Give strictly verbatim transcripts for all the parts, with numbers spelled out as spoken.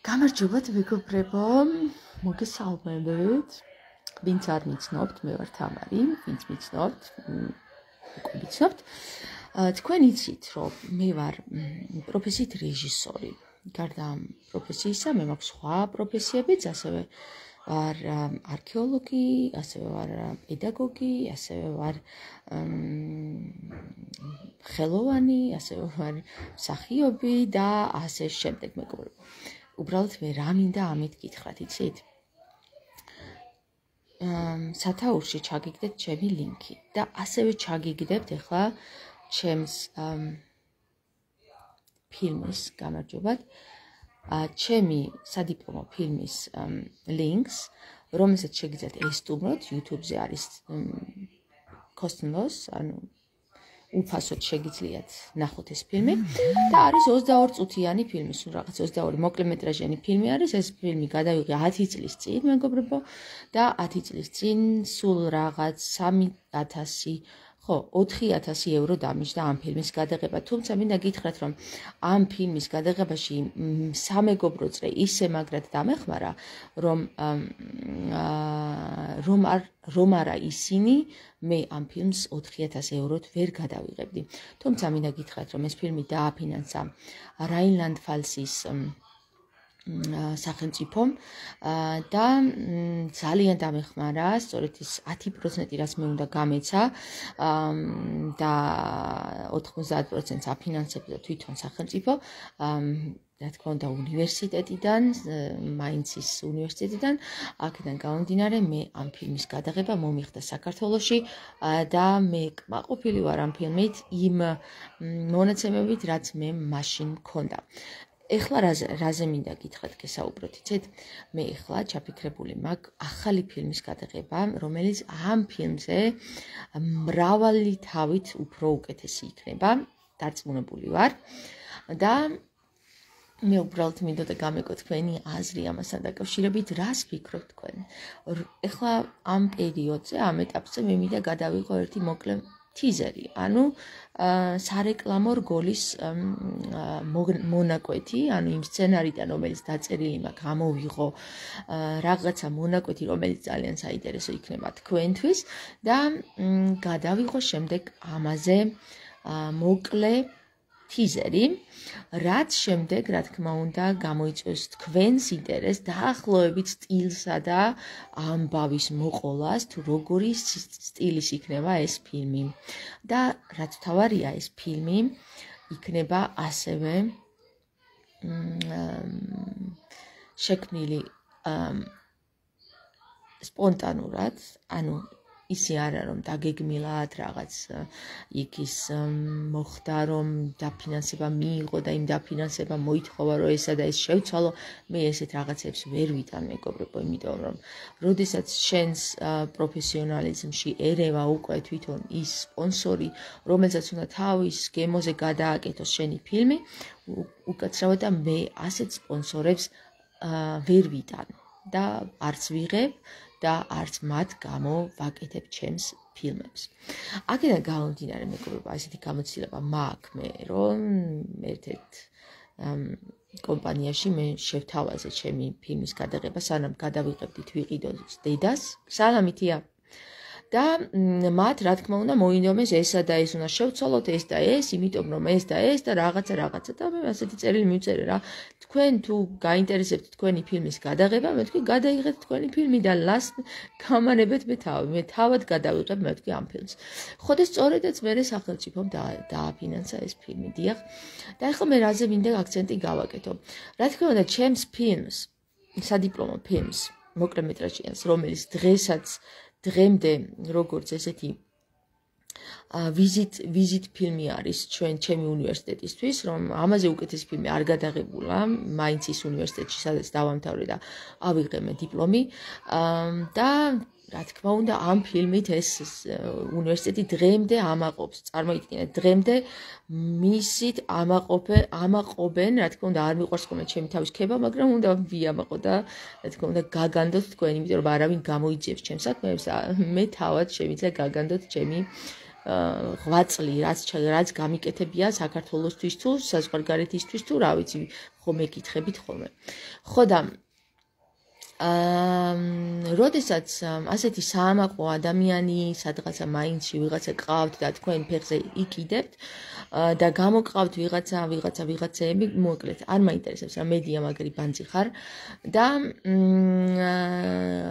გამარჯობათ მეგობრებო, მოგესალმებით. ვინც არ მიცნობთ, მე ვარ თამარი, ვინც მიცნობთ, უკვე მიცნობთ. თქვენ იცით, რომ მე ვარ პროფესიით რეჟისორი. გარდა ამ პროფესიისა, მე მაქვს სხვა პროფესიებიც, ასევე ვარ არქეოლოგი, ასევე ვარ პედაგოგი, ასევე ვარ ხელოვანი, ასევე ვარ მსახიობი და ასე შემდეგ, მეგობრებო. უბრალოდ მე რა მინდა ამით გითხრათ, იცით? სათაურში ჩაგიგდეთ ჩემი ლინკი და ასევე ჩაგიგდებთ ახლა ჩემს ფილმის, გამარჯობათ, ჩემი სადიპლომო ფილმის ლინკს, რომელსაც შეგიძლიათ ესტუმროთ, YouTube-ზე არის kostenlos, ანუ უფასოდ შეგიძლიათ ნახოთ ეს ფილმი და არის ოცდაორი წუთიანი ფილმი, სულ რაღაც ოცდაორი მოკლემეტრაჟიანი ფილმი არის. ეს ფილმი გადავიღე ათი წლის წინ, მეგობრებო, და ათი წლის წინ სულ რაღაც სამი ათასი, ხო, ოთხი ათასი ევრო დამიჯდა ამ ფილმის გადაღება. თუმცა მინდა გითხრათ, რომ ამ ფილმის გადაღებაში სამეგობრო წრე ისე მაგრად დამეხმარა, რომ რომ არ რომ არა ისინი მე ამ ფილმს ოთხი ათასი ევროთ ვერ გადავიღებდი. თუმცა მინდა გითხრათ, რომ ეს ფილმი დააფინანსა რაინლანდ-ფალსის სახელმწიფომ და ძალიან დამეხმარა, სწორედ ის ათი პროცენტი რაც მე უნდა გამეცა და ოთხმოცდაათ პროცენტს აფინანსებდა თვითონ სახელმწიფო, რა თქმა უნდა უნივერსიტეტიდან, მაინცის უნივერსიტეტიდან, აქედან გამომდინარე მე ამ ფილმის გადაღება მომიხდა საქართველოში და მე კმაყოფილი ვარ ამ ფილმით იმ მონაცემებით, რაც მე მაშინ მქონდა. ეხლა რაზე მინდა გითხრათ, გესაუბროთ, იცით? მე ეხლა ჩაფიქრებული მაქვს ახალი ფილმის გადაღება, რომელიც ამ ფილმზე მრავალი თავით უფრო უკეთესი იქნება, დარწმუნებული ვარ და მე უბრალოდ მინდოდა გამეკო თქვენი აზრი ამასთან დაკავშირებით, რას ფიქრობთ თქვენ? ეხლა ამ პერიოდზე, ამ ეტაპზე მე მინდა გადავიღო ერთი მოკლე თიზერი, ანუ სარეკლამო რგოლის მონაკვეთი, ანუ იმ სცენარიდან, რომელიც დაწერილი მაქვს, ამოვიღო რაღაცა მონაკვეთი, რომელიც ძალიან საინტერესო იქნება თქვენთვის და გადავიღო შემდეგ ამაზე მოკლე თიზერი, რაც შემდეგ, რა თქმა უნდა, გამოიწვევს თქვენს ინტერესს დაახლოებით სტილსა და ამბავის მოყოლას, თუ როგორი სტილის იქნება ეს ფილმი. და რაც თავარია, ეს ფილმი იქნება ასევე შექმნილი სპონტანურად, ანუ ისე არა რომ დაგეგმილად რაღაც იქ ის მოხდა რომ დაფინანსება მიიღო და იმ დაფინანსება მოითხოვა რომ ესა და ეს შევცვალო, მე ესეთ რაღაცებს ვერ ვიტან, მეგობრებო, იმიტომ რომ როდესაც შენს პროფესიონალიზმში ერევა უკვე თვითონ ის სპონსორი, რომელსაც უნდა თავის გემოზე გადააკეთოს შენი ფილმი, უკაცრავად და მე ასეთ სპონსორებს ვერ ვიტან და არც ვიღებ და არც მათ გამო ვაკეთებ ჩემს ფილმებს. აქედან გამომდინარე, მეგობრებო, ასეთი გამოცდილება მაქვს მე, რომ ერთ-ერთ კომპანიაში მე შევთავაზე ჩემი ფილმის გადაღება, სანამ გადავიღებდით ვიყიდოს დედას, სალამითია. და მათ, რა თქმა უნდა, მოინდომეს ესა და ეს უნდა შევცვალოთ, ეს და ეს, იმიტომ რომ ეს და ეს და რაღაცა რაღაცა და მე ასეთი წერილი მივწერე რა. თქვენ თუ გაინტერესებთ თქვენი ფილმის გადაღება, მე თქვი გადაიღეთ თქვენი ფილმი და ლას გამანებეთ მე თავი. მე თავად გადავიღებ მე თქვი ამ ფილმს. ხო და სწორედაც მე სახელმწიფომ დააფინანსა ეს ფილმი, დიახ. და ახლა მე რაზე მინდა აქცენტი გავაკეთო. რა თქმა უნდა, ჩემს ფილმს, სადიპლომო ფილმს, მოკლემეტრაჟიანს, რომელიც დღესაც დღემდე როგორც ესეთი ვიზიტ ვიზიტ ფილმი არის ჩვენ ჩემი უნივერსიტეტისთვის, რომ ამაზე უკეთესი ფილმი არ გადაღებულა მაინცის უნივერსიტეტში, სადაც დავამთავრე და ავიღე მე დიპლომი და რა თქმა უნდა, ამ ფილმით ეს უნივერსიტეტი დღემდე ამაყობს, წარმოიდგინეთ, დღემდე მისით ამაყობე, ამაყობენ, რა თქმა უნდა, არ მიყვარს ხოლმე ჩემი თავის ქება, მაგრამ უნდა ვიამაყო და რა თქმა უნდა, გაგანდოთ თქვენ, იმიტომ რომ არავინ გამოიძიებს ჩემს საქმეებს, მე თავად შემიძლია გაგანდოთ ჩემი ღვაწლი, რაც რაც გამიკეთებია საქართველოსთვის თუ საზღვარგარეთისთვის თუ რა ვიცი, ხომ ეკითხებით ხოლმე. ხო და აა როდესაც ასეთი საამაყო ადამიანი სადღაცა მაინცში ვიღაცა ყავთ და თქვენ ფეხზე იქიდებთ და გამოყავთ ვიღაცა ვიღაცა ვიღაცები მოკლედ არ მაინტერესებს რა მედია მაგარი ბანძი ხარ და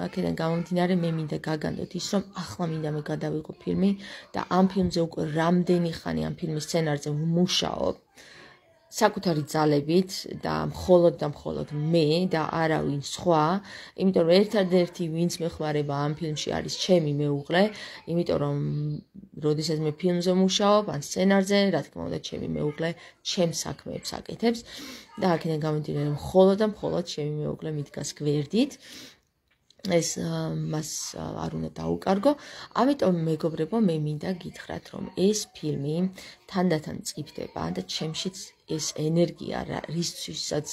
აქედან გამომდინარე მე მინდა გაგანდოთ ის რომ ახლა მინდა მე გადავიღო ფილმი და ამ ფილმზე უკვე რამდენი ხანი ამ ფილმის სცენარზე ვმუშაობ საკუთარი ძალებით და მხოლოდ და მხოლოდ მე და არავინ სხვა, იმიტომ რომ ერთადერთი ვინც მეხმარება ამ ფილმში არის ჩემი მეუღლე, იმიტომ რომ როდესაც მე ფილმზე მუშაობ, ან სცენარზე, რა თქმა უნდა, ჩემი მეუღლე ჩემს საქმეებს აკეთებს და აქედან გამომდინარე მხოლოდ და მხოლოდ ჩემი მეუღლე მიდგას გვერდით. ეს მას არ უნდა დაუკარგო, ამიტომ მეგობრებო, მე მინდა გითხრათ, რომ ეს ფილმი თანდათან მწიფდება და ჩემშიც ეს ენერგია, რისთვისაც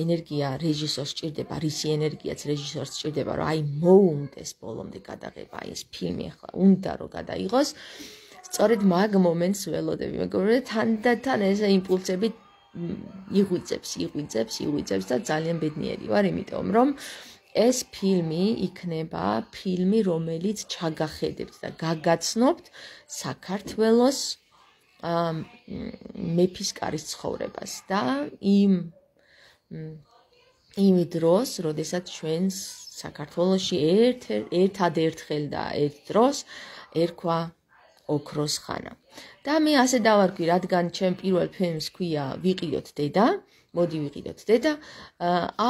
ენერგია რეჟისორს სჭირდება, რისი ენერგიაც რეჟისორს სჭირდება, რომ აი მოუნდეს ბოლომდე გადაღება, ეს ფილმი ახლა უნდა რომ გადაიღოს. სწორედ მაგ მომენტს ველოდები, მეგობრებო, თანდათან ეს იმპულსები იღვიძებს, იღვიძებს, იღვიძებს და ძალიან ბედნიერი ვარ, იმიტომ რომ ეს ფილმი იქნება ფილმი, რომელიც ჩაგახედებთ და გაგაცნობთ საქართველოს მეფის კარის ცხოვრებას და იმ იმ დროს, როდესაც ჩვენ საქართველოში ერთ ერთადერთხელ და ერთ დროს ერქვა ოქროს ხანა. და მე ასე დავარქვი, რადგან ჩემ პირველ ფილმს ქვია ვიყიდოთ დედა, მოდი ვიყიდოთ დედა,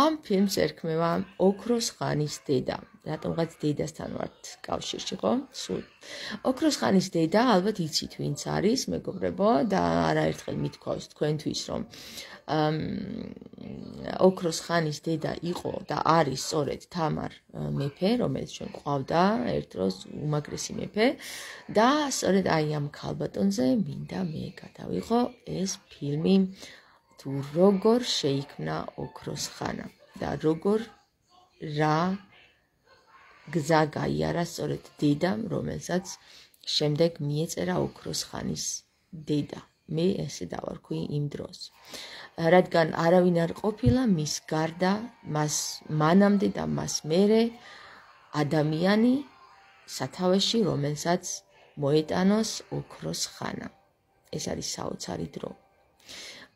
ამ ფილმს ერქმევა ოქროს ხანის დედა. რატომღაც დედასთან ვართ კავშირში, ხო? სულ. ოქროს ხანის დედა, ალბათ იცით ვინც არის, მეგობრებო, და არაერთხელ მithქვავს თქვენთვის, რომ ოქროს ხანის დედა იყო და არის სწორედ თამარ მეფე, რომელიც ჩვენ გვყავდა ერთ დროს უმაგრესი მეფე და სწორედ აი ამ ქალბატონზე მინდა მე გადავიღო ეს ფილმი თუ როგორ შეიქმნა ოქროს ხანა და როგორ რა გზა გაიარა სწორედ დედამ, რომელსაც შემდეგ მიეწერა ოქროს ხანის დედა. მე ესე დავარქვი იმ დროს. რადგან არავინ არ ყოფილა მის გარდა, მას მანამდე და მას მერე ადამიანი სათავეში, რომელსაც მოეტანოს ოქროს ხანა. ეს არის საოცარი დრო.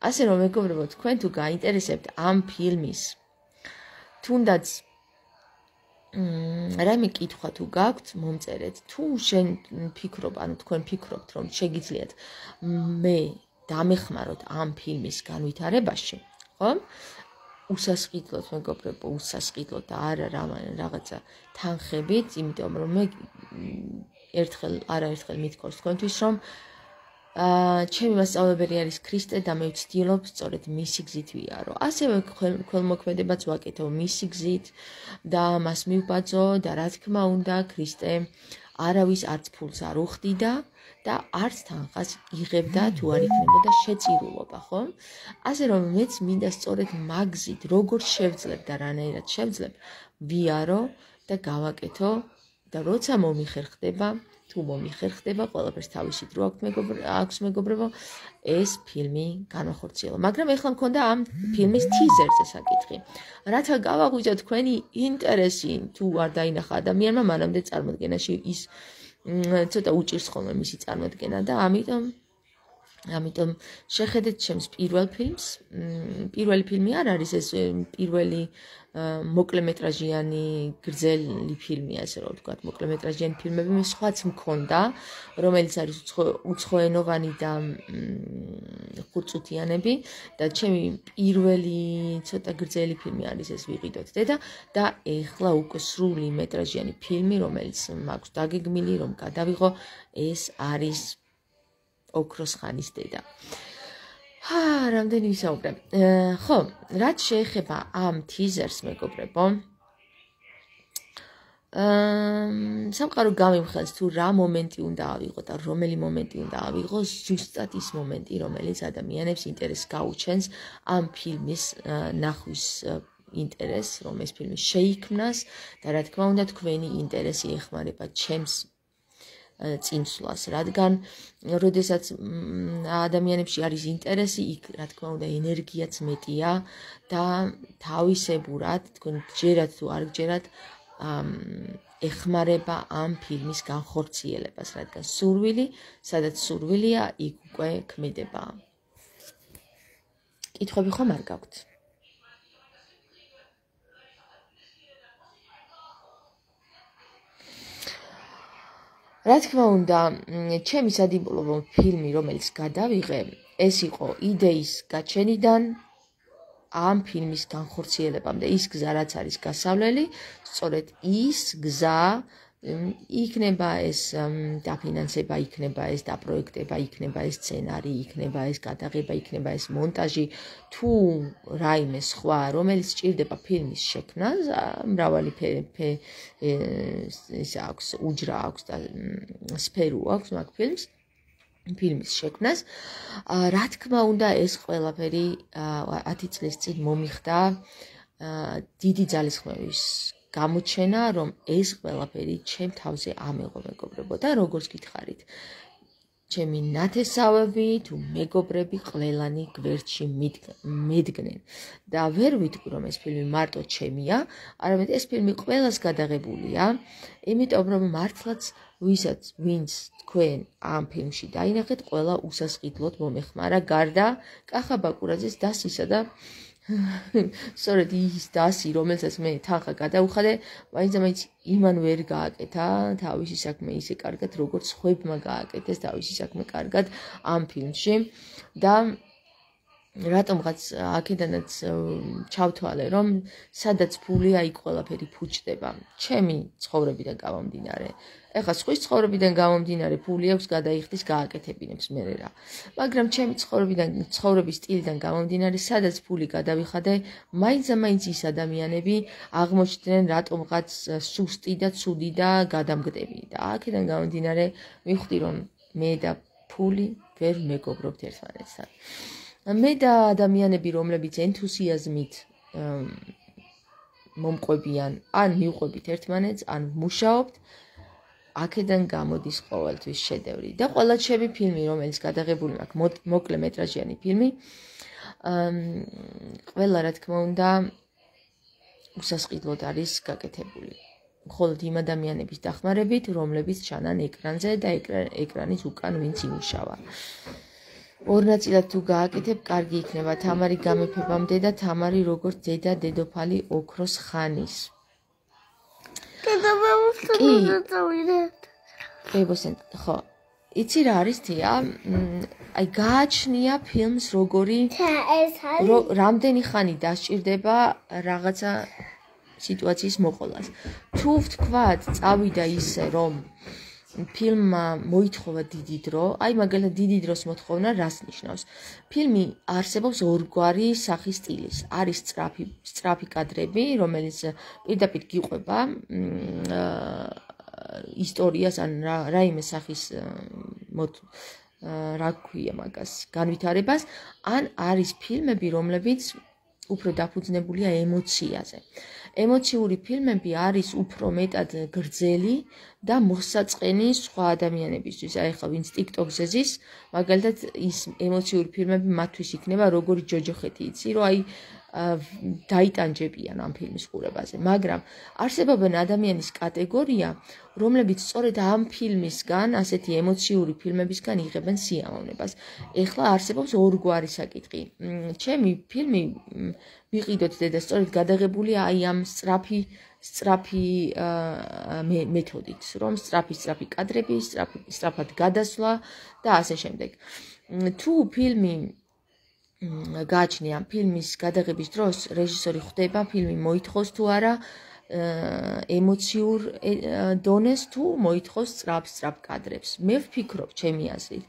ასე რომ მეგობრებო, თქვენ თუ გაინტერესებთ ამ ფილმის თუნდაც რაიმე კითხვა თუ გაქვთ, მომწერეთ. თუ შენ ფიქრობ, ანუ თქვენ ფიქრობთ, რომ შეგიძლიათ მე დამეხმაროთ ამ ფილმის განვითარებაში, ხო? უსასყიდლოდ მეგობრებო, უსასყიდლოდ და არა რაღაცა თანხებით, იმიტომ რომ მე ერთხელ არაერთხელ მithქვავს თქვენთვის, რომ აა ჩემი მასწავლებელი არის ქრისტე და მე ვცდილობ სწორედ მისი გზით ვიარო. ასევე ქველმოქმედებაც ვაკეთო მისი გზით და მას მივბაძო და რა თქმა უნდა ქრისტე არავის არც ფულს არ უხდიდა და არც თანხას იღებდა თუ არ იქნებოდა შეწირულობა, ხო? ასე რომ მეც მინდა სწორედ მაგზით როგორ შევძლებ და რანაირად შევძლებ ვიარო და გავაკეთო და როცა მომიხერხდება თუ მომიხერხდება, ყველაფერს თავისი დრო აქვს მეგობრებო, ეს ფილმი განახორციელო. მაგრამ ეხლა მქონდა ამ ფილმის ტიზერზე საკითხი. რათა გავაღვიძო თქვენი ინტერესი, თუ არ დაინახა ადამიანმა მანამდე წარმოდგენაში ის ცოტა უჭირს ხოლმე მისი წარმოდგენა და ამიტომ ამიტომ შეხედეთ ჩემს პირველ ფილმს. პირველი ფილმი არ არის ეს პირველი მოკლემეტრაჟიანი გრძელი ფილმია, ასე რომ ვთქვათ, მოკლემეტრაჟიანი ფილმები მე სხვაც მქონდა, რომელიც არის უცხოენოვანი და ხუთწუთიანები და ჩემი პირველი ცოტა გრძელი ფილმი არის ეს ვიყიდოთ დედა და ეხლა უკვე სრული მეტრაჟიანი ფილმი, რომელიც მაქვს დაგეგმილი, რომ გადავიღო, ეს არის ოქროს ხანის დედა. ჰა, რამდენი ვისაუბრე. ხო, რაც შეეხება ამ ტიზერს, მეგობრებო, სამყარო გამიმხელს თუ რა მომენტი უნდა ავიღო და რომელი მომენტი უნდა ავიღო, ზუსტად ის მომენტი, რომელიც ადამიანებს ინტერესს გაუჩენს ამ ფილმის ნახვის ინტერესს, რომ ეს ფილმი შეიქმნას და რა თქმა უნდა თქვენი ინტერესი ეხმარება ჩემს წინსვლას, რადგან როდესაც ადამიანებში არის ინტერესი, იქ რა თქმა უნდა ენერგიაც მეტია და თავისებურად, თქვენ გჯერათ თუ არ გჯერათ, ეხმარება ამ ფილმის განხორციელებას, რადგან სურვილი, სადაც სურვილია, იქ უკვე ქმედება. კითხვები ხომ არ გაქვთ? რა თქმა უნდა, ჩემი სადიპლომო ფილმი, რომელიც გადავიღე, ეს იყო იდეის გაჩენიდან ამ ფილმის განხორციელებამდე. ის გზა, რაც არის გასავლელი, სწორედ ის გზა იქნება ეს დაფინანსება, იქნება ეს დაპროექტება, იქნება ეს სცენარი, იქნება ეს გადაღება, იქნება ეს მონტაჟი, თუ რაიმე სხვა, რომელიც სჭირდება ფილმის შექმნას, მრავალი ის აქვს, უჯრა აქვს და სფერო აქვს მაგ ფილმს. ფილმის შექმნას. რა თქმა უნდა, ეს ყველაფერი ათი წლის წინ მომიხდა დიდი ძალისხმევის გამოჩენა, რომ ეს ყველაფერი ჩემ თავზე ამეღო მეგობრებო და როგორც გითხარით, ჩემი ნათესავები თუ მეგობრები ყველანი გვერდში მედგნენ და ვერ ვიტყვი, რომ ეს ფილმი მარტო ჩემია, არამედ ეს ფილმი ყველას გადაღებულია, იმიტომ რომ მართლაც ვისაც ვინც თქვენ ამ ფილმში დაინახეთ, ყველა უსასყიდლოდ მომეხმარა, გარდა კახა ბაკურაძის დასისა და სწორედ ის დასი, რომელსაც მე თანხა გადავუხადე, მაინც ამაინც იმან ვერ გააკეთა თავისი საქმე ისე კარგად, როგორც ხვებმა გააკეთეს თავისი საქმე კარგად ამ ფილმში და რატომღაც აქედანაც ჩავთვალე, რომ სადაც ფულია, იქ ყველაფერი ფუჭდება. ჩემი ცხოვრებიდან გამომდინარე. ეხლა სხვის ცხოვრებიდან გამომდინარე ფული აქვს გადაიხდის გააკეთებინებს მე რა. მაგრამ ჩემი ცხოვრებიდან ცხოვრების სტილიდან გამომდინარე, სადაც ფული გადავიხადე, მაინც ამაინც ის ადამიანები აღმოჩნდნენ რატომღაც სუსტი და ცუდი და გადამგდები. და აქედან გამომდინარე მივხვდი, რომ მე და ფული ვერ მეგობრობთ ერთმანეთთან. მე და ადამიანები, რომლებიც ენთუსიაზმით მომყვებიან, ან მივყვებით ერთმანეთს, ან მუშაობთ, აქედან გამოდის ყოველთვის შედევრი. და ყველა ჩემი ფილმი, რომელიც გადაღებული მაქვს, მოკლე მეტრაჟიანი ფილმი, ყველა რა თქმა უნდა უსასყიდლოდ არის გაკეთებული. მხოლოდ იმ ადამიანების დახმარებით, რომლებიც ჩანან ეკრანზე და ეკრანის უკან ვინც იმუშავა. ორ ნაწილად თუ გააკეთებ, კარგი იქნება. თამარი გამეფებამდე და თამარი როგორც დედა დედოფალი ოქროს ხანის. ბებოსენ, ხო, იცი რა არის თია? აი გააჩნია ფილმს როგორი რამდენი ხანი დასჭირდება რაღაცა სიტუაციის მოყოლას. თუ ვთქვათ, წავიდა ისე, რომ ფილმმა მოითხოვა დიდი დრო, აი მაგალითად დიდი დროს მოთხოვნა რას ნიშნავს? ფილმი არსებობს ორგვარი სახის სტილის. არის სწრაფი, სწრაფი კადრები, რომელიც პირდაპირ გიყვება ისტორიას ან რაიმე სახის რა ქვია მაგას განვითარებას, ან არის ფილმები, რომლებიც უფრო დაფუძნებულია ემოციაზე. ემოციური ფილმები არის უფრო მეტად გრძელი და მოსაწყენი სხვა ადამიანებისთვის. აი ხა ვინც TikTok-ზე ზის, მაგალითად ის ემოციური ფილმები მათთვის იქნება როგორი ჯოჯოხეთი, იცი, რომ აი დაიტანჯებიან ამ ფილმის ყურებაზე. მაგრამ არსებობენ ადამიანის კატეგორია, რომლებიც სწორედ ამ ფილმისგან, ასეთი ემოციური ფილმებისგან იღებენ სიამოვნებას. ეხლა არსებობს ორგვარი საკითხი. ჩემი ფილმი ვიყიდოთ და სწორედ გადაღებულია აი ამ სწრაფი სწრაფი მეთოდით, რომ სწრაფი სწრაფი კადრები, სწრაფი სწრაფად გადასვლა და ასე შემდეგ. თუ ფილმი გააჩნია ფილმის გადაღების დროს, რეჟისორი ხვდება ფილმი მოითხოვს თუ არა ემოციურ დონეს თუ მოითხოვს სწრაფ სწრაფ კადრებს. მე ვფიქრობ, ჩემი აზრით,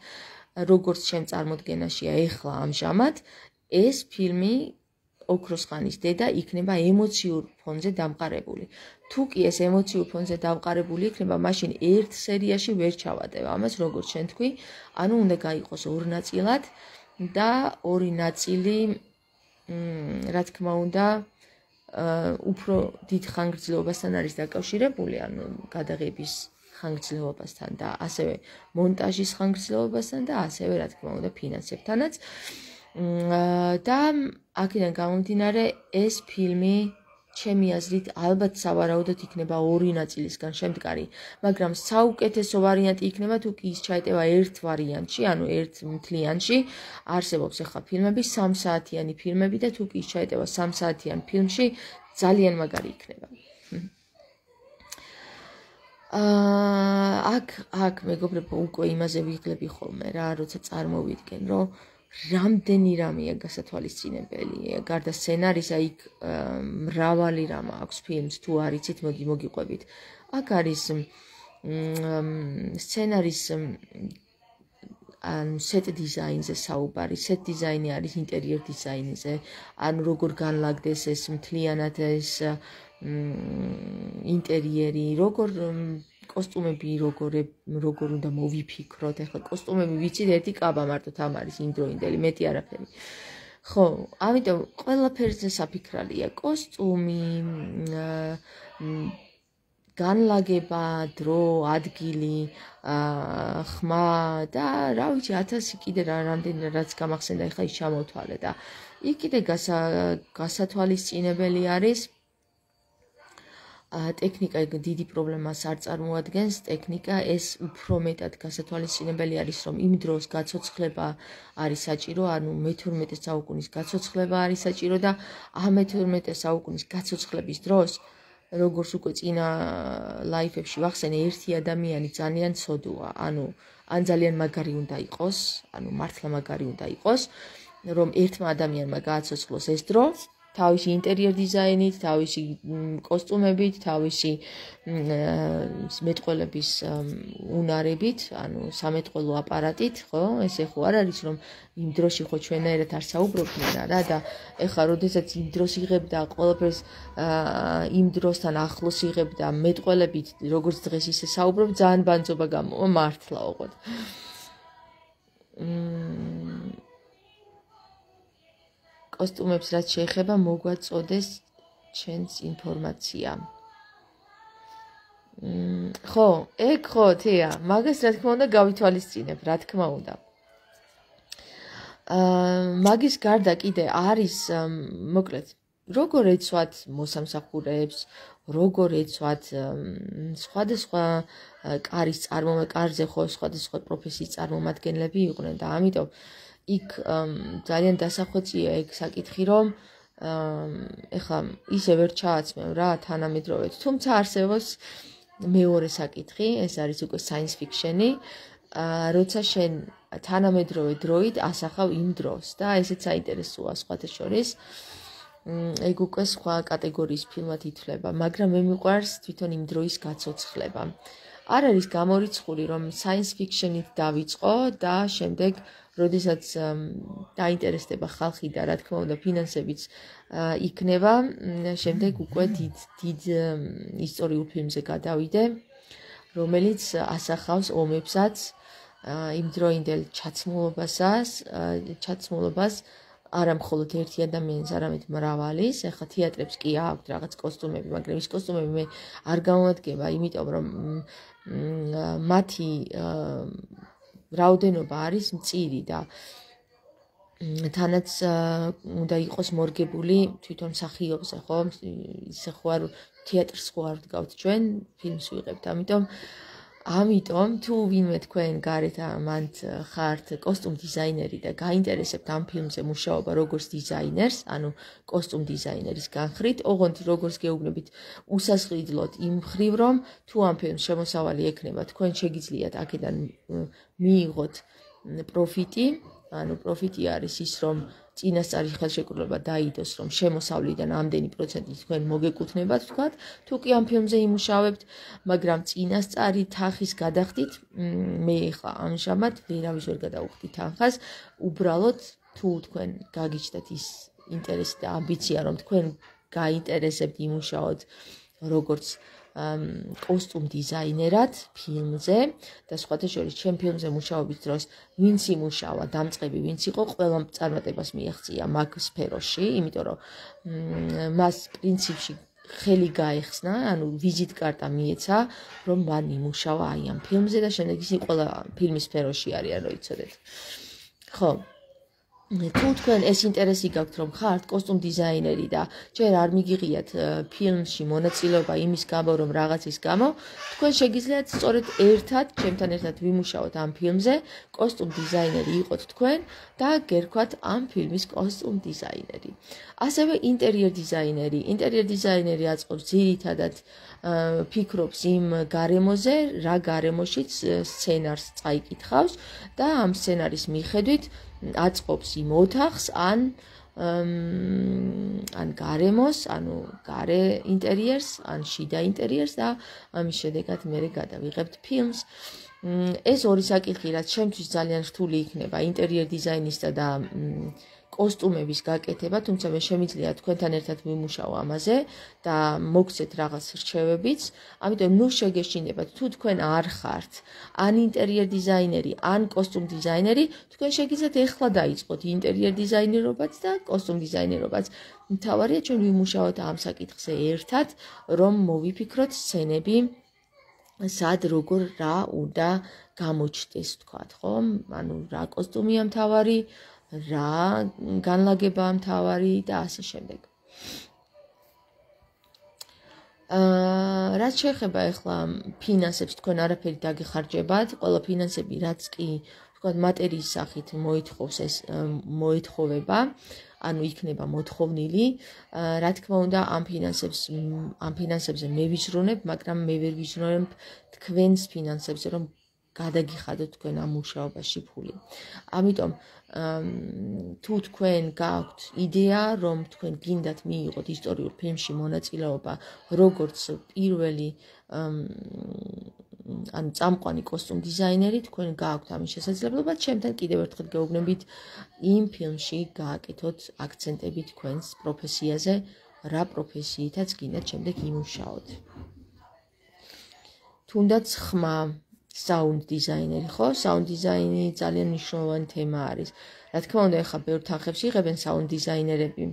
როგორც ჩემ წარმოდგენაშია ეხლა ამჟამად, ეს ფილმი ოქროს ხანის დედა იქნება ემოციურ ფონზე დამყარებული. თუ კი ეს ემოციურ ფონზე დამყარებული იქნება, მაშინ ერთ სერიაში ვერ ჩავატევ ამას, როგორც შენ თქვი, ანუ უნდა გაიყოს ორ ნაწილად და ორი ნაწილი, რა თქმა უნდა, უფრო დიდ ხანგრძლივობასთან არის დაკავშირებული, ანუ გადაღების ხანგრძლივობასთან და ასევე მონტაჟის ხანგრძლივობასთან და ასევე რა თქმა უნდა ფინანსებთანაც. და აქედან გამომდინარე ეს ფილმი ჩემი აზრით ალბათ სავარაუდოდ იქნება ორი ნაწილისგან შემდგარი, მაგრამ საუკეთესო ვარიანტი იქნება თუ კი ის ჩაეტევა ერთ ვარიანტში, ანუ ერთ მთლიანში. არსებობს ახლა ფილმები, სამ საათიანი ფილმები და თუ კი ის ჩაეტევა სამ საათიან ფილმში, ძალიან მაგარი იქნება. აქ აქ მეგობრებო უკვე იმაზე ვიღლები ხოლმე რა, როცა წარმოვიდგენ, რომ რამდენი რამეა გასათვალისწინებელი, გარდა სცენარისა იქ მრავალი რამ აქვს ფილმს, თუ არ იცით, მოდი მოგიყვებით. აქ არის სცენარის ანუ set design-ზე საუბარი, set design-ი არის interior design-ზე, ანუ როგორ განლაგდეს ეს მთლიანად ეს ინტერიერი, როგორ კოსტუმები როგორ როგორ უნდა მოვიფიქროთ, ახლა კოსტუმები ვიცით ერთი კაბა მარტო ამ არის იმდროინდელი, მეტი არაფერი. ხო, ამიტომ ყველაფერზე საფიქრალია, კოსტუმი, განლაგება, დრო, ადგილი, ხმა და რა ვიცი, ათასი კიდე რა რამდენი რაც გამახსენდა, ახლა ის ჩამოვთვალე და იქ კიდე გასათვალისწინებელი არის ტექნიკა დიდი პრობლემას არ წარმოადგენს, ტექნიკა ეს უფრო მეტად გასათვალისწინებელი არის, რომ იმ დროს გაცოცხლება არის საჭირო, ანუ მეთორმეტე საუკუნის გაცოცხლება არის საჭირო და ამ მეთორმეტე საუკუნის გაცოცხლების დროს, როგორც უკვე წინა ლაიფებში ვახსენე, ერთი ადამიანი ძალიან ცოდუა, ანუ ან ძალიან მაგარი უნდა იყოს, ანუ მართლა მაგარი უნდა იყოს, რომ ერთმა ადამიანმა გააცოცხლოს ეს დრო, თავისი ინტერიერ დიზაინით, თავისი კოსტუმებით, თავისი მეტყველების უნარებით, ანუ სამეტყველო აპარატით, ხო? ესე ხო არ არის, რომ იმ დროში ხო ჩვენერად არ საუბრობდნენ რა და ეხლა როდესაც იმ დროს იღებდა ყველაფერს იმ დროსთან ახლოს იღებდა მეტყველებით, როგორც დღეს ისე საუბრობ, ძალიან ბანძობა გამოვა მართლა ოღონდ. კოსტუმებს რაც შეეხება მოგვაწოდეს ჩვენს ინფორმაცია. ხო, ეგ ხო, თეა, მაგას რა თქმა უნდა გავითვალისწინებ, რა თქმა უნდა. მაგის გარდა კიდე არის, მოკლედ, როგორ ეცვათ მოსამსახურეებს, როგორ ეცვათ სხვადასხვა კარის წარმომადგენლები, კარზე ხო სხვადასხვა პროფესიის წარმომადგენლები იყვნენ და ამიტომ იქ ძალიან დასახვეწია ეგ საკითხი, რომ ეხლა ისე ვერ ჩააცმევ რა თანამედროვედ, თუმცა არსებობს მეორე საკითხი, ეს არის უკვე science fiction-ი, როცა შენ თანამედროვე დროით ასახავ იმ დროს და ესეც საინტერესოა სხვათა შორის. ეგ უკვე სხვა კატეგორიის ფილმად ითვლება, მაგრამ მე მიყვარს თვითონ იმ დროის გაცოცხლება. არ არის გამორიცხული, რომ science fiction-ით დავიწყო და შემდეგ როდესაც დაინტერესდება ხალხი და რა თქმა უნდა ფინანსებიც იქნება, შემდეგ უკვე დიდ დიდ ისტორიულ ფილმზე გადავიდე, რომელიც ასახავს ომებსაც, იმდროინდელ ჩაცმულობასაც, ჩაცმულობას არა მხოლოდ ერთი ადამიანის, არამედ მრავალის. ახლა თეატრებს კი აქვთ რაღაც კოსტუმები, მაგრამ ის კოსტუმები მე არ გამოვადგება, იმიტომ რომ მათი რაოდენობა არის მწირი და თანაც უნდა იყოს მორგებული თვითონ მსახიობზე, ხო? ისე ხო არ თეატრს ხო არ ვდგავთ ჩვენ, ფილმს ვიღებთ, ამიტომ ამიტომ თუ ვინმე თქვენ გარეთ ამათ ხართ კოსტუმ დიზაინერი და გაინტერესებთ ამ ფილმზე მუშაობა როგორც დიზაინერს, ანუ კოსტუმ დიზაინერის განხრით, ოღონდ როგორც გეუბნებით, უსასყიდლოდ იმ მხრივ, რომ თუ ამ ფილმს შემოსავალი ექნება, თქვენ შეგიძლიათ აქედან მიიღოთ პროფიტი, ანუ პროფიტი არის ის, რომ წინასწარი ხელშეკრულება დაიდოს, რომ შემოსავლიდან ამდენი პროცენტი თქვენ მოგეკუთვნებათ, თქვათ, თუ კი ამ ფილმზე იმუშავებთ, მაგრამ წინასწარი თანხის გადახდით, მე ხა ამჟამად ვერავის ვერ გადავხდი თანხას, უბრალოდ თუ თქვენ გაგიჩნდათ ის ინტერესი და ამბიცია, რომ თქვენ გაინტერესებთ იმუშაოთ როგორც კოსტუმ დიზაინერად ფილმზე და სხვათა შორის ჩემ ფილმზე მუშაობის დროს ვინც იმუშავა, დამწყები ვინც იყო, ყველამ წარმატებას მიაღწია მაგ სფეროში, იმიტომ რომ მას პრინციპში ხელი გაეხსნა, ანუ ვიზიტ კარტა მიეცა, რომ მან იმუშავა აი ამ ფილმზე და შემდეგ ისინი ყველა ფილმის სფეროში არიან, რო იცოდეთ. ხო. თუ თქვენ ეს ინტერესი გაქვთ, რომ ხართ კოსტუმ დიზაინერი და ჯერ არ მიგიღიათ ფილმში მონაწილეობა იმის გამო, რომ რაღაცის გამო, თქვენ შეგიძლიათ სწორედ ერთად, ჩემთან ერთად ვიმუშაოთ ამ ფილმზე, კოსტუმ დიზაინერი იყოთ თქვენ და გერქვათ ამ ფილმის კოსტუმ დიზაინერი. ასევე ინტერიერ დიზაინერი. ინტერიერ დიზაინერი აწყობს ძირითადად ფიქრობს იმ გარემოზე, რა გარემოშიც სცენარს წაიკითხავს და ამ სცენარის მიხედვით აწყობს იმ ოთახს ან ან გარემოს, ანუ გარე ინტერიერს, ან შიდა ინტერიერს და ამის შედეგად მე გადავიღებთ ფილმს. ეს ორი საკითხი, რაც ჩემთვის ძალიან რთული იქნება, ინტერიერ დიზაინისა და კოსტუმების გაკეთება, თუმცა მე შემიძლია თქვენთან ერთად ვიმუშაო ამაზე და მოგცეთ რაღაც რჩევებიც. ამიტომ ნუ შეგეშინებათ, თუ თქვენ არ ხართ ან ინტერიერ დიზაინერი, ან კოსტუმ დიზაინერი, თქვენ შეგიძლიათ ეხლა დაიწყოთ ინტერიერ დიზაინერობაც და კოსტუმ დიზაინერობაც. მთავარია ჩვენ ვიმუშაოთ ამ საკითხზე ერთად, რომ მოვიფიქროთ სცენები, სად როგორ რა უნდა გამოჩნდეს, თქვათ, ხო? ანუ რა კოსტუმია მთავარი, რა განლაგებაა მთავარი და ასე შემდეგ. აა რაც შეეხება ახლა ფინანსებს, თქვენ არაფერი დაგეხარჯებათ, ყველა ფინანსები რაც კი თქვათ მატერიის სახით მოითხოვს ეს მოეთხოვება, ანუ იქნება მოთხოვნილი. რა თქმა უნდა, ამ ფინანსებს ამ ფინანსებზე მე ვიზრუნებ, მაგრამ მე ვერ ვიზრუნებ თქვენს ფინანსებზე, რომ გადაგიხადოთ თქვენ ამ მუშაობაში ფული. ამიტომ თუ თქვენ გაქვთ იდეა, რომ თქვენ გინდათ მიიღოთ ისტორიულ ფილმში მონაწილეობა, როგორც პირველი ანუ წამყვანი კოსტუმ დიზაინერი, თქვენ გაქვთ ამის შესაძლებლობა, ჩემთან კიდევ ერთხელ გეუბნებით იმ ფილმში გააკეთოთ აქცენტები თქვენს პროფესიაზე, რა პროფესიითაც გინდათ შემდეგ იმუშაოთ. თუნდაც ხმა საუნდ დიზაინერი, ხო? საუნდ დიზაინი ძალიან მნიშვნელოვანი თემა არის. რა თქმა უნდა, ეხლა ბევრ თანხებს იღებენ საუნდ დიზაინერები.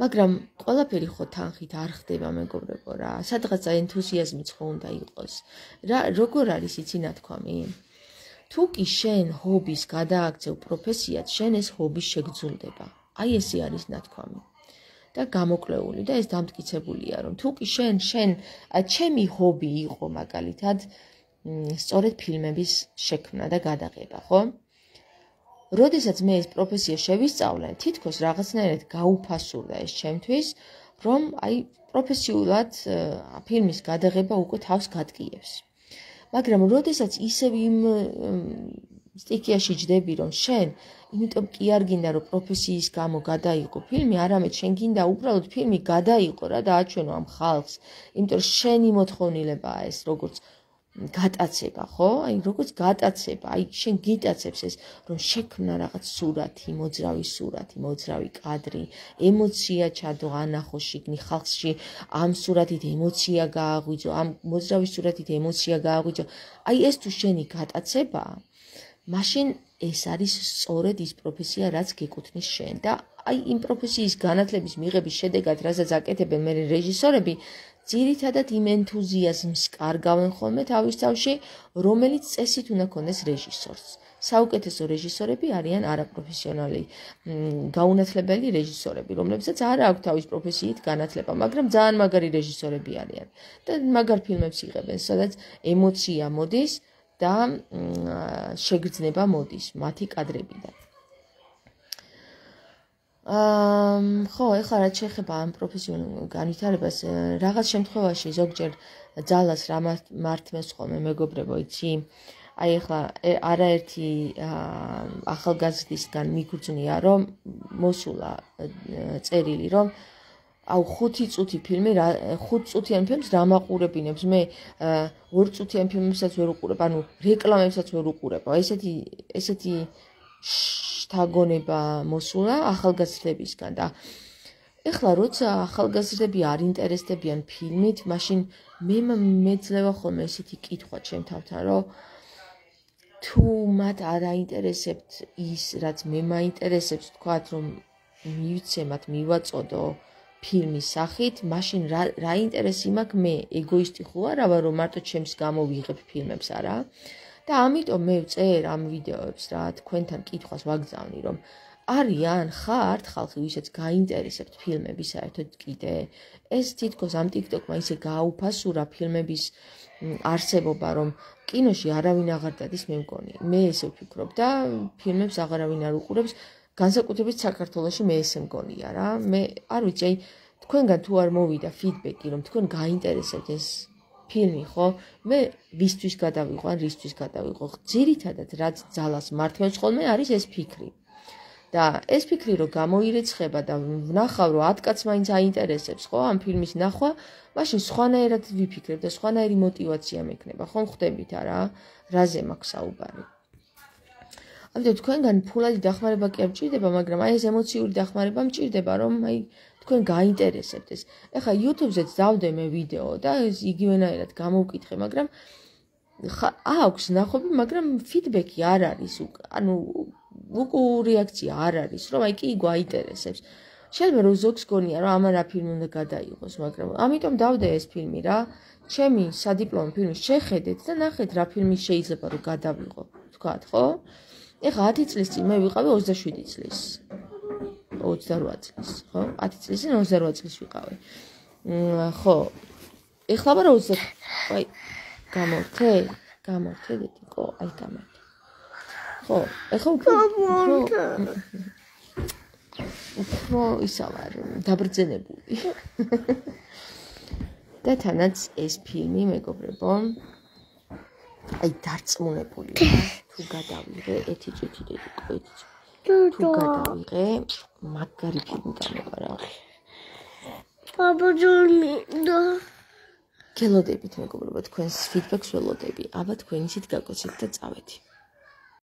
მაგრამ ყველაფერი ხო თანხით არ ხდება, მეგობრებო რა. სადღაცა ენთუზიაზმიც ხო უნდა იყოს. რა როგორ არის იცი ნათქვამი? თუ კი შენ ჰობის გადააქცევ პროფესიად, შენ ეს ჰობი შეგძულდება. აი ესე არის ნათქვამი. და გამოკლეული და ეს დამტკიცებულია, რომ თუ კი შენ შენ ჩემი ჰობი იყო მაგალითად სწორედ ფილმების შექმნა და გადაღება, ხო? როდესაც მე ეს პროფესია შევისწავლე, თითქოს რაღაცნაირად გაუფასურდა ეს ჩემთვის, რომ აი პროფესიულად ფილმის გადაღება უკვე თავს გადკიებს. მაგრამ როდესაც ისევ იმ სტიქიაში ჯდები, რომ შენ იმიტომ კი არ გინდა რომ პროფესიის გამო გადაიღო ფილმი, არამედ შენ გინდა უბრალოდ ფილმი გადაიღო რა და აჩვენო ამ ხალხს, იმიტომ რომ შენი მოთხოვნილებაა ეს როგორც გატაცება, ხო? აი როგორც გატაცება, აი შენ გიტაცებს ეს, რომ შექმნა რაღაც სურათი, მოძრავი სურათი, მოძრავი კადრი, ემოცია ჩადო ანახო შიგნი ხალხში, ამ სურათით ემოცია გააღვიძო, ამ მოძრავი სურათით ემოცია გააღვიძო. აი ეს თუ შენი გატაცებაა, მაშინ ეს არის სწორედ ის პროფესია, რაც გეკუთვნის შენ და აი იმ პროფესიის განათლების მიღების შედეგად, რასაც აკეთებენ მე რეჟისორები, ძირითადად იმ ენთუზიაზმს კარგავენ ხოლმე თავის თავში, რომელიც წესით უნდა ქონდეს რეჟისორს. საუკეთესო რეჟისორები არიან არაპროფესიონალი, გაუნათლებელი რეჟისორები, რომლებსაც არ აქვს თავის პროფესიით განათლება, მაგრამ ძალიან მაგარი რეჟისორები არიან და მაგარ ფილმებს იღებენ, სადაც ემოცია მოდის და შეგრძნება მოდის მათი კადრებიდან. ხო, ეხლა რაც შეეხება ამ პროფესიულ განვითარებას, რაღაც შემთხვევაში ზოგჯერ ძალას რა მართმევს ხოლმე მეგობრებო, იცი? აი ეხლა არაერთი ახალგაზრდისგან მიგრძნია, რომ მოსულა წერილი, რომ აუ ხუთი წუთი ფილმი, ხუთ წუთიან ფილმს რა მაყურებინებს, მე ორ წუთიან ფილმებსაც ვერ უყურებ, ანუ რეკლამებსაც ვერ უყურებ. ესეთი ესეთი შთაგონება მოსულა ახალგაზრდებისგან და ეხლა როცა ახალგაზრდები არ ინტერესდებიან ფილმით, მაშინ მე მეძლევა ხოლმე ესეთი კითხვა ჩემ თავთან, რომ თუ მათ არ აინტერესებთ ის, რაც მე მაინტერესებს, თქვათ, რომ მივიცემათ, მივაწოდო ფილმის სახით, მაშინ რა რა ინტერესი მაქვს მე, ეგოისტი ხო არა, რომ მარტო ჩემს გამო ვიღებ ფილმებს არა? და ამიტომ მე ვწერ ამ ვიდეოებს რა, თქვენთან კითხვას ვაგზავნი, რომ არიან ხართ ხალხი, ვისაც გაინტერესებთ ფილმები საერთოდ კიდე? ეს თითქოს ამ TikTok-მა ისე გააუფასურა ფილმების არსებობა, რომ კინოში არავინ აღარ დადის, მე მგონი. მე ესე ვფიქრობ და ფილმებს აღარავინ არ უყურებს, განსაკუთრებით საქართველოში მე ესე მგონია რა. მე არ ვიცი, აი თქვენგან თუ არ მოვიდა ფიდბექი, რომ თქვენ გაინტერესებთ ეს ფილმი, ხო? მე ვისთვის გადავიღო, ან რისთვის გადავიღო? ძირითადად რაც ძალას მართავს ხოლმე არის ეს ფიქრი. და ეს ფიქრი რომ გამოირეცხება და ვნახავ რომ ათ კაც მაინც აინტერესებს, ხო, ამ ფილმის ნახვა, მაშინ სხვანაირად ვიფიქრებ და სხვანაირი мотиваცია მექნება, ხომ ხვდებით არა? რაზე მაქვს საუბარი? ამიტომ თქვენგან ფულადი დახმარება კი არ მჭირდება, მაგრამ აი ეს ემოციური დახმარება მჭირდება, რომ აი თქვენ გაინტერესებთ ეს. ეხლა YouTube-ზეც დავდე მე ვიდეო და ეს იგივენაირად გამოვკითხე, მაგრამ აქვს ნახობი, მაგრამ ფიდბექი არ არის, ანუ უკუ რეაქცია არ არის, რომ აი კი გვაინტერესებს. შეიძლება რომ ზოგს გონია, რომ ამან რა ფილმი უნდა გადაიღოს, მაგრამ ამიტომ დავდე ეს ფილმი რა. ჩემი სადიპლომო ფილმი შეხედეთ და ნახეთ რა ფილმი შეიძლება რომ გადავიღო, თქვათ, ხო? ეხლა ათი წლის წინ მე ვიყავი ოცდაშვიდი წლის. ოცდარვა წლის, ხო? ათი წლის წინ ოცდარვა წლის ვიყავი. ხო. ეხლა ვარ ოცდა, აი გამორთე, გამორთე დედიკო, აი გამორთე. ხო, ეხლა უფრო უფრო ისა ვარ დაბრძენებული. და თანაც ეს ფილმი მეგობრებო, აი დარწმუნებული ვარ, თუ გადავიღე ეთი წუთი დედიკო, ეთი წუთი. თუ გადავიღე, მაგარი ფილმი გამოვა რა. აბაჯონი და გელოდებით მეგობრებო, თქვენს ფიდბექს ველოდები. აბა თქვენ ისიც გაგოცეთ და წავედი.